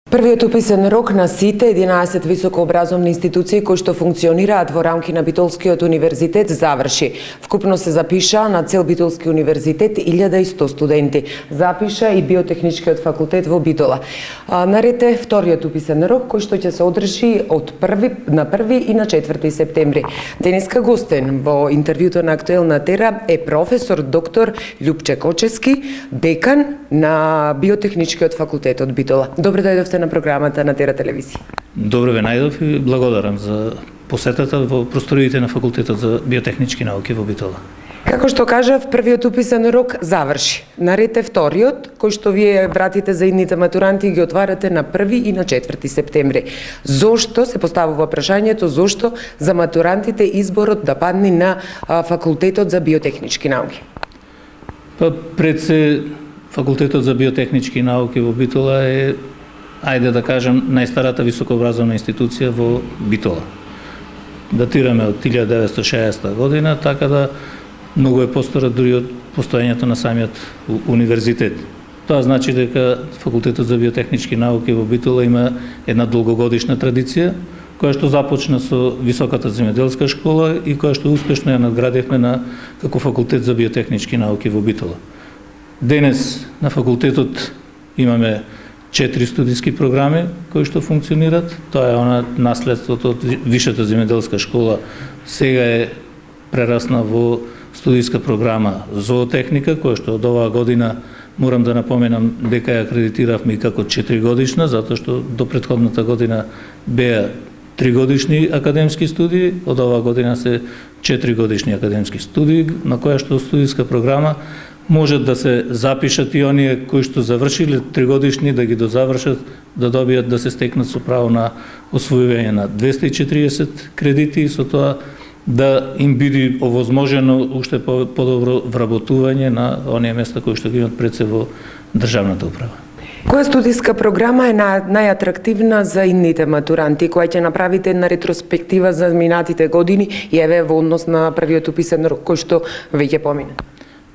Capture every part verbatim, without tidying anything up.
Првиот уписен рок на сите единаесет високообразовни институции кои што функционираат во рамки на Битолскиот универзитет заврши. Вкупно се запиша на цел Битолски универзитет илјада и сто студенти. Запиша и Биотехничкиот факултет во Битола. Наред е вториот уписен рок кој што ќе се одржи од први на први и на четврти септември. Денеска гостен во интервјуто на Актуелна Тера е професор доктор Љупче Кочевски, декан на Биотехничкиот факултет од Битола. Добро дојдовте на програмата на Тера телевизија. Добро ве најдов и благодарам за посетата во просториите на факултетот за биотехнички науки во Битола. Како што кажав, првиот уписен рок заврши. Наред е вториот, кој што вие вратите за идните матуранти и ги отварате на први и на четврти септември. Зошто се поставува прашањето, зошто за матурантите изборот да падне на факултетот за биотехнички науки? Па пред се факултетот за биотехнички науки во Битола е, ајде да кажем, најстарата високообразовна институција во Битола. Датираме од илјада деветстотини и шеесета година, така да многу е постара дури од постоењето на самиот универзитет. Тоа значи дека факултетот за биотехнички науки во Битола има една долгогодишна традиција, која што започна со високата земјоделска школа и која што успешно ја надградивме на како факултет за биотехнички науки во Битола. Денес на факултетот имаме четири студиски програми кои што функционираат. Тоа е она наследството од висшата земјоделска школа. Сега е прерасна во студиска програма зоотехника, која што од оваа година морам да напоменам дека ја акредитиравме и како четиригодишна, затоа што до претходната година беа тригодишни академски студии, од оваа година се четиригодишни академски студии, на која што студиска програма можат да се запишат и оние кои што завршиле тригодишни да ги дозавршат, да добијат да се стекнат со право на освојување на двесте и четириесет кредити и со тоа да им биде овозможено уште подобро вработување на оние места кои што ги имат пред се во државната управа. Која студиска програма е најатрактивна за идните матуранти, која ќе направите една ретроспектива за минатите години и еве во однос на првиот уписен рок кој што веќе помина?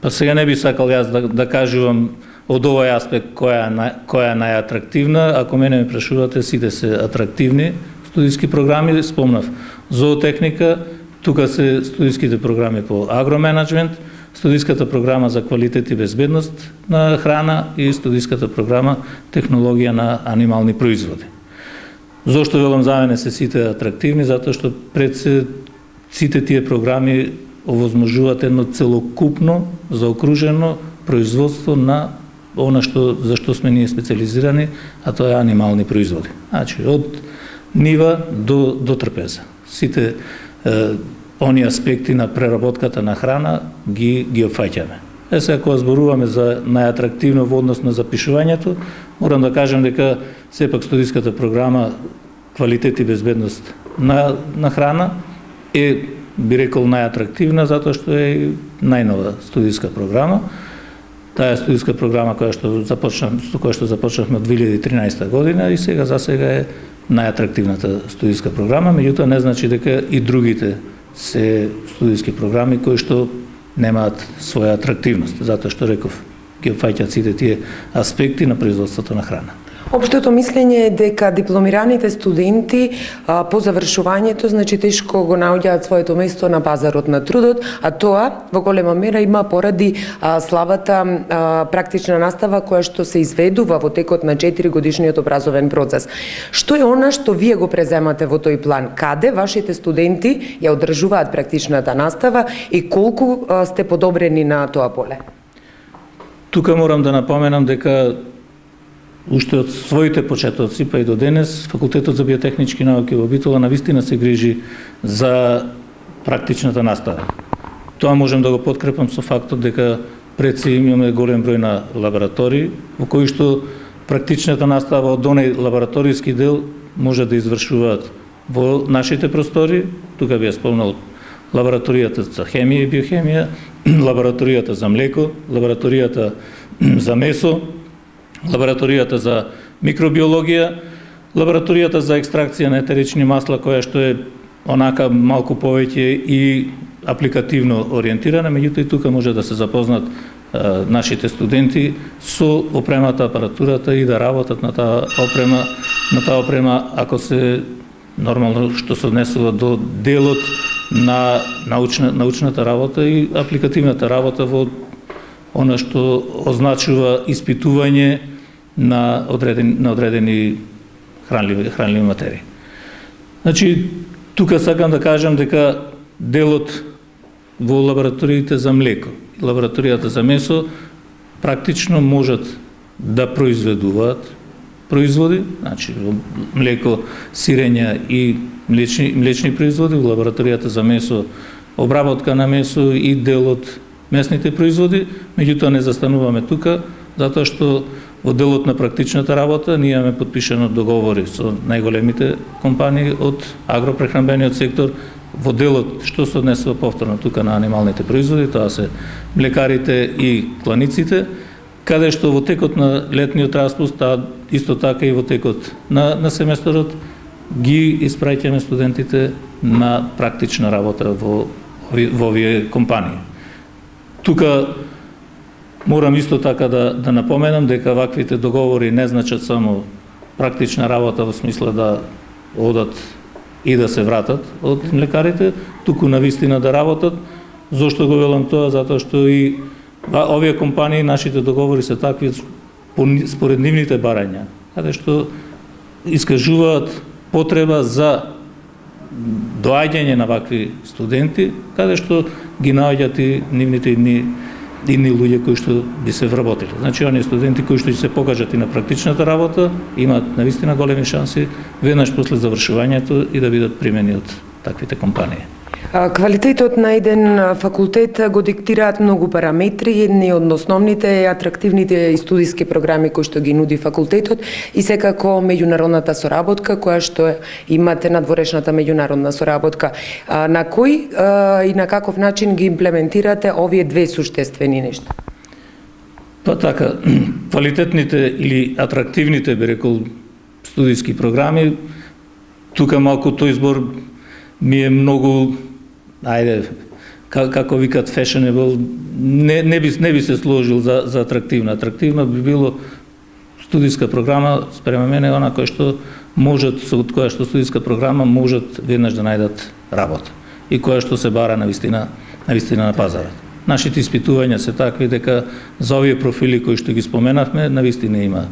Па сега не би сакал јас да, да кажувам од овој аспект која која е најатрактивна. Ако мене ме прашувате, сите се атрактивни студиски програми. Спомнав зоотехника, тука се студиските програми по агроменеджмент, студиската програма за квалитет и безбедност на храна и студиската програма технологија на анимални производи. Зошто велам за мене се сите атрактивни? Затоа што пред се сите тие програми овозможуваат едно целокупно, заокружено производство на она што за што сме ние специализирани, а тоа е анимални производи. Значи од нива до до трпеза. Сите е, они аспекти на преработката на храна ги ги опфаќаме. Е сега кога зборуваме за најатрактивно во однос на запишувањето, морам да кажам дека сепак студиската програма квалитет и безбедност на на храна е, би рекол, најатрактивна затоа што е најнова студиска програма. Таа е студиска програма која што започна, со која што започнавме од две илјади и тринаесета година и сега за сега е најатрактивната студиска програма, меѓутоа не значи дека и другите се студиски програми кои што немаат своја атрактивност, затоа што реков ги опфаќаат сите тие аспекти на производството на храна. Општото мислење е дека дипломираните студенти а, по завршувањето значи тешко го наоѓаат своето место на пазарот на трудот, а тоа во голема мера има поради а, слабата а, практична настава која што се изведува во текот на четири годишниот образовен процес. Што е она што вие го преземате во тој план? Каде вашите студенти ја одржуваат практичната настава и колку а, сте подобрени на тоа поле? Тука морам да напоменам дека уште од своите почетоци па и до денес факултетот за биотехнички науки во Битола навистина се грижи за практичната настава. Тоа можем да го подкрепам со фактот дека пред се имаме голем број на лаборатории во кои што практичната настава од оној лабораториски дел може да извршуваат во нашите простори. Тука би ја спомнал лабораторијата за хемија и биохемија, лабораторијата за млеко, лабораторијата за месо, лабораторијата за микробиологија, лабораторијата за екстракција на етерични масла, која што е онака малку повеќе и апликативно ориентирана, меѓутоа и тука може да се запознат нашите студенти со опремата, апаратурата и да работат на таа опрема, на таа опрема ако се нормално што се однесува до делот на научна, научната работа и апликативната работа во она што означува испитување на одредени, на одредени хранливи, хранливи материи. Значи, тука сакам да кажам дека делот во лабораториите за млеко и лабораторијата за месо практично можат да произведуваат производи, значи млеко, сирења и млечни, млечни производи, во лабораторијата за месо, обработка на месо и делот месните производи, меѓутоа не застануваме тука, затоа што во делот на практичната работа ние имаме подпишано договори со најголемите компании од агропрехранбениот сектор, во делот што се однесува повторно тука на анималните производи, тоа се млекарите и кланиците, каде што во текот на летниот распуст, а исто така и во текот на, на семестерот, ги испраќаме студентите на практична работа во, во овие компании. Тука морам исто така да, да напоменам дека ваквите договори не значат само практична работа во смисла да одат и да се вратат од млекарите, туку навистина да работат. Зошто го велам тоа? Затоа што и овие компании, нашите договори се такви според нивните барања, каде што искажуваат потреба за доаѓање на вакви студенти, каде што ги наоѓаат и нивните идни, идни луѓе кои што би се вработили. Значи, оние студенти кои што ќе се покажат и на практичната работа, имаат навистина големи шанси веднаш после завршувањето и да бидат примени од таквите компании. Квалитетот на еден факултет го диктираат многу параметри, едни од основните е атрактивните студиски програми кои што ги нуди факултетот и секако меѓународната соработка која што имате надворешната меѓународна соработка. На кој и на каков начин ги имплементирате овие две суштествени нешта? Па така, квалитетните или атрактивните, би рекол, студиски програми, тука малку тој избор ми е многу, ајде, како викат fashionable, не, не, би, не би се сложил за, за атрактивна. Атрактивна би било студиска програма, спрема мене, она која што можат, со која што студиска програма можат веднаш да најдат работа и која што се бара на вистина, на вистина на пазарот. Нашите испитувања се такви дека за овие профили кои што ги споменавме, на вистина има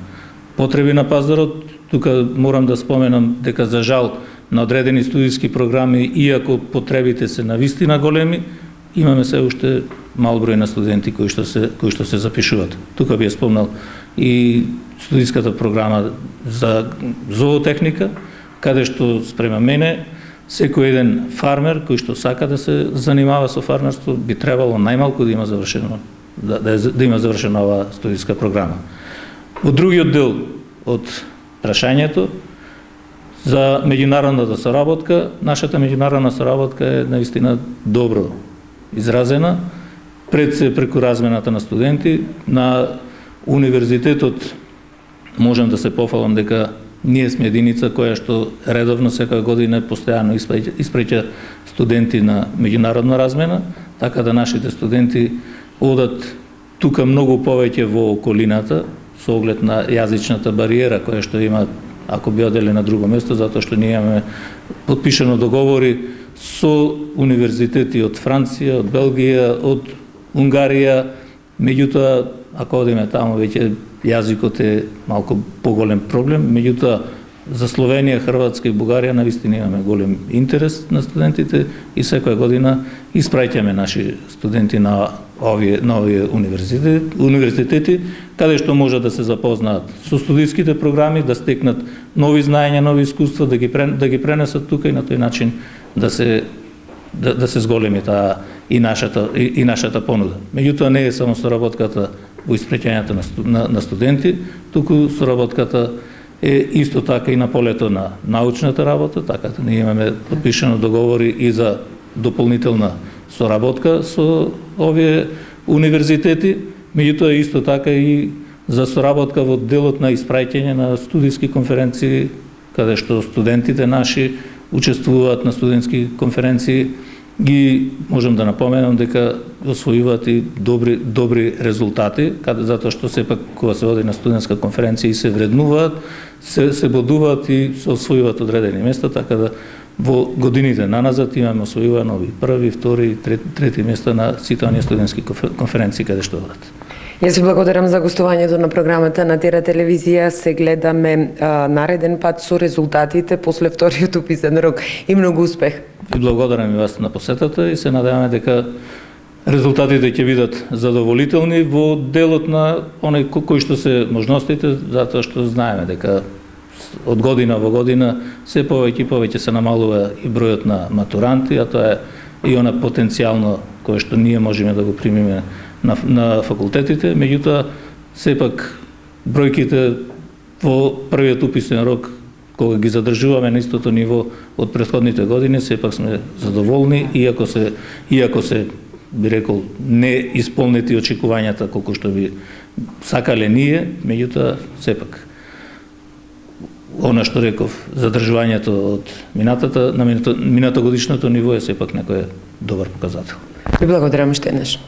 потреби на пазарот. Тука морам да споменам дека за жал на одредени студиски програми, иако потребите се на вистина големи, имаме се уште мал број на студенти кои што се кои што се запишуваат. Тука би ја спомнал и студиската програма за зоотехника, каде што спрема мене секој еден фармер кој што сака да се занимава со фармерство би требало најмалку да има завршено да, да, да има завршена оваа студиска програма. Во другиот дел од прашањето за меѓународната соработка, нашата меѓународна соработка е наистина добро изразена, пред се преку размената на студенти. На универзитетот можам да се пофалам дека ние сме единица која што редовно секоја година постојано испраќа студенти на меѓународна размена, така да нашите студенти одат тука многу повеќе во околината со оглед на јазичната бариера која што има ако би одели на друго место, затоа што ние имаме подпишано договори со универзитети од Франција, од Белгија, од Унгарија, меѓутоа, ако одиме таму, веќе јазикот е малку поголем проблем, меѓутоа, за Словенија, Хрватска и Бугарија навистина имаме голем интерес на студентите и секоја година испраќаме наши студенти на овие, на овие универзитети, универзитети, каде што може да се запознаат со студиските програми, да стекнат нови знаења, нови искуства, да ги, да ги пренесат тука и на тој начин да се, да, да се зголеми таа и нашата, и, и нашата понуда. Меѓутоа не е само соработката во испраќањето на, на, на студенти, туку соработката е исто така и на полето на научната работа, така да ние имаме подпишано договори и за дополнителна соработка со овие универзитети, меѓутоа исто така и за соработка во делот на испраќање на студиски конференции, каде што студентите наши учествуваат на студентски конференции ги можам да напоменам дека освојуваат и добри добри резултати, каде затоа што сепак кога се оди на студентска конференција и се вреднуваат, се се бодуваат и се освојуваат одредени места, така да во годините наназад имаме освојувано и први, втори, трети, трети места на сите оние студентски конференции каде што одат. Јас ви благодарам за гостувањето на програмата на Тера телевизија. Се гледаме а, нареден пат со резултатите после вториот уписен рок и многу успех. И благодарам и вас на посетата и се надеваме дека резултатите ќе бидат задоволителни во делот на оној кој што се можностите, затоа што знаеме дека од година во година се повеќе и повеќе се намалува и бројот на матуранти, а тоа е и она потенцијално кое што ние можеме да го примиме на, на факултетите, меѓутоа сепак бројките во првиот уписен рок кога ги задржуваме на истото ниво од претходните години, сепак сме задоволни, иако се иако се би рекол не исполнети очекувањата колку што би сакале ние, меѓутоа сепак она што реков, задржувањето од минатата на минато, минатогодишното ниво е сепак некој добар показател. Ви благодарам уште еднаш.